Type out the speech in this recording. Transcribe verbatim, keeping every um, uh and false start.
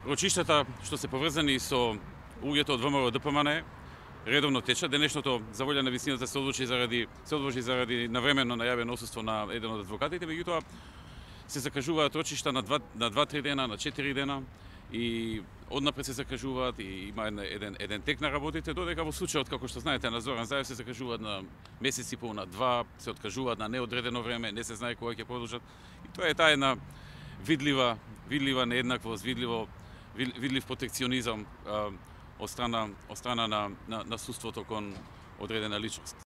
Рочиштата што се поврзани со луѓето од ВМРО Д П М Н редовно течат. Денешното за волја на висината се одлучи заради се одложи заради навременно најавено отсуство на еден од адвокатите, меѓутоа се закажуваат рочишта на два на два-три дена, на четири дена и однапред се закажуваат и има еден еден тек на работите, додека во случајот како што знаете на Зоран Заев се закажуваат на месец и пол, на два, се откажуваат на неодредено време, не се знае кога ќе продолжат. И тоа е таа една видлива видлива нееднаквост, видливо видлив протекционизам од страна од страна на на, на судството кон одредена личност.